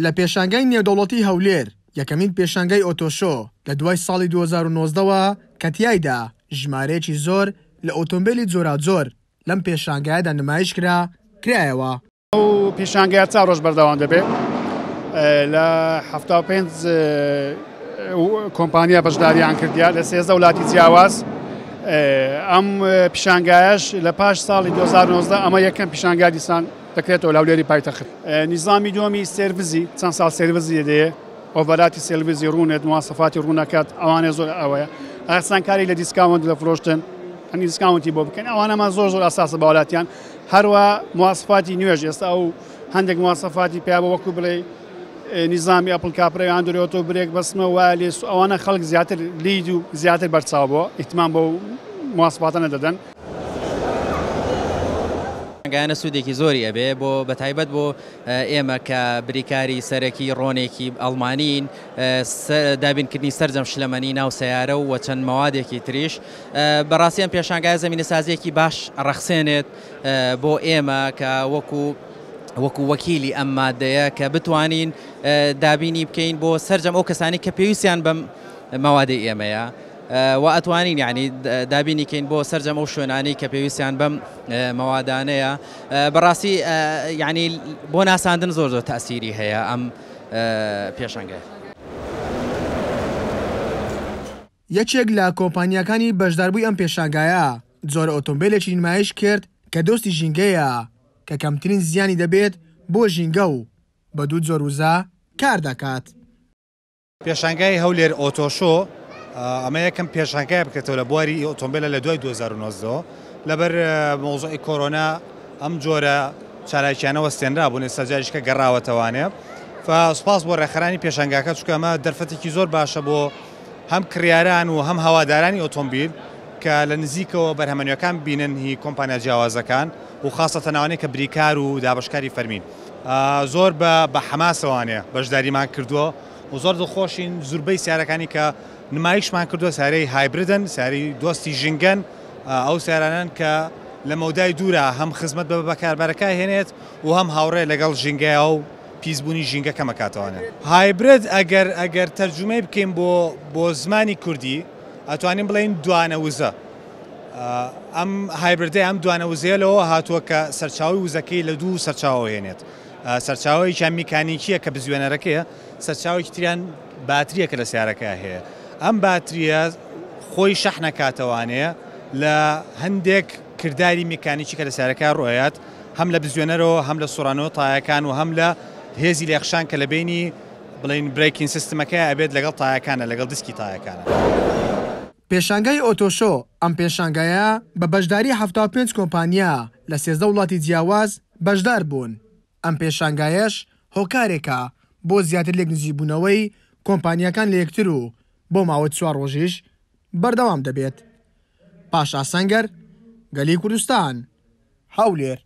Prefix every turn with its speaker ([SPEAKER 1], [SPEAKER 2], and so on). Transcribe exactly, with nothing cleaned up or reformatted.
[SPEAKER 1] لە پێشانگای نێودەوڵەتی هەولێر یەکەمین پێشانگای Auto Show لە دوای ساڵی دوو هەزار و نۆزدە کە تیایدا ژمارەیەکی زۆر لە ئۆتۆمبیلی جۆراجۆر لەم پێشانگایەدا نمایش کرا کرایەوە.
[SPEAKER 2] ئەو پیشانگایە چوار ڕۆژ بەردەوام دەبێت. لە حەفتا و پێنج کۆمپانیا بەشداریان کردیا لە سێزدە وڵاتی جیاواز. ئەم پیشانگایەش لە پاش ساڵی دوو هەزار و نۆزدە ئەمە یەکەم پیشانگا دیسان دەکرێتەوە لە هەولێری پایتەخت. نیزامی دووەمی سێرڤزی چەند ساڵ سێرڤزی دەیە، ئۆڤەراتی سێرڤزی ڕوونێت، مواسەفاتی ڕوونەکات، ئەوانە زۆر ئەوەیە. ئاسانکاری لە discount لە فرۆشتن، هەنی discount ی بۆ بکەن، ئەوانەمان زۆر زۆر ئاساسە بە وڵاتیان. هەروە مواسەفاتی نوێژ ئێستا ئەو هەندێک مواسەفاتی پیا بۆ وەکو بڵێ نیزامی Apple CarPlay Android Auto brake بەسمە wireless، ئەوانە خەڵک زیاتر لید و زیاتر بەرچاو بۆ ئیهتمام بۆ مواسەفاتانە دەدەن.
[SPEAKER 3] گایانە سوودێکی زۆری ئەبێ بۆ بەتایبەت بۆ ئێمە کە بریکاری سەرەکی ڕۆنێکی ئەڵمانین، دابینکردنی سەرجەم شلەمەنی ناو سەیارە و چەند مەوادێکی تریش. بەڕاستی ئەم پێشانگایە زەمینەسازیەکی باش ڕەخسێنێت بۆ ئێمە کە وەکو وەکو وەکیلی ئەم مادەیە کە بتوانین دابینی بکەین بۆ سەرجەم ئەو کەسانی کە پێویستیان بەم مەوادەی ئێمەیە و ئەتوانین یعنی دابینی کەین بۆ سەرجەم ئەو شوێنانەی کە پێویستیان بەم مەوادانەیە. بەڕاستی یعنی بۆ ناساندن زۆر زۆر تەئسیری هەیە ئەم پێشانگایە.
[SPEAKER 1] یەکێک لە کۆمپانیاکانی بەشداربووی ئەم پێشانگایە جۆرە ئۆتۆمبیلێکی نمایش کرد کە دۆستی ژینگەیە کە کەمترین زیانی دەبێت بۆ ژینگە و بە دوو جۆر وزە کار دەکات.
[SPEAKER 4] پێشانگای هەولێر Auto Show ئەمە یەکەم پێشانگای بکرێتەوە لە بواری ئۆتۆمبیلە لە دوای دوو هەزار و نۆزدە لەبەر مەوزوعی کۆرۆنا ئەم جۆرە چالاکیانە وەستێنرا بوون، ئێستا جاریشکە گەڕاوەتەوانێ. سوپاس بۆ ڕێکخەرانی پێشانگاکە، چونکە ئەمە دەرفەتێکی زۆر باشە بۆ هەم کڕیاران و هەم هەوادارانی ئۆتۆمبیل کە لە نزیکەوە بەرهەمەنیەکان بینن هی کۆمپانیا جیاوازەکان و خاصەتەن ئەوانەی کە بریکار و دابەشکاری فەرمین. زۆر بە حەماسەوانێ بەشداریمان کردووە و زۆر دڵخۆشین زوربەی سیارەکانی کە نمایشمان کردووە سیارەی hybrid ن، سیارەی دۆستی ژینگەن، ئەو سیارانن کە لە مەودای دوورە هەم خزمەت بە بەکاربەرەکە هێنێت و هەم هاوڕێ لەگەڵ ژینگەیە و پیسبوونی ژینگە کەمەکاتەوانێ. hybrid ئەگەر ئەگەر تەرجومەی بکەین بۆ بۆ زمانی کوردی ئەتوانین بڵێین دوانە وزە. ئەم hybrid ەی ئەم دوانە وزەیە لەوە هاتووە کە سەرچاوی وزەکەی لە دوو سەرچاوە هێنێت. سەرچاوەیەکیان میکانیکیە کە بزوێنەرەکەیە، سەرچاوێکی تریان باتریە کە لە سیارەکە هەیە. ئەم باتریە خۆی شەحنەکاتەوانەیە لە هەندێک کرداری میکانیکی کە لە سیارەکە ڕۆیات، هەم لە بزوێنەرەوە، هەم لە سوڕانەوە تایەکان و هەم لە هێزی لێخشان کە لە بینی بڵین braking system ەکە ئەبێت لەگەڵ تایەکانە، لەگەڵ دیسکی تایەکانە.
[SPEAKER 1] پێشانگای Auto Show ئەم پێشانگایە بە بەشداری حەفتا و پێنج کۆمپانیا لە سێزدە وڵاتی جیاواز بەشدار بوون. ئەم پێشانگایەش هۆکارێکە بۆ زیاتر لێک نزیکبوونەوەی کۆمپانیاکان لە یەکتر و بۆ ماوەی چوار ڕۆژیش بەردەوام دەبێت. پاشا سەنگەر، گەلی کوردستان، هەولێر.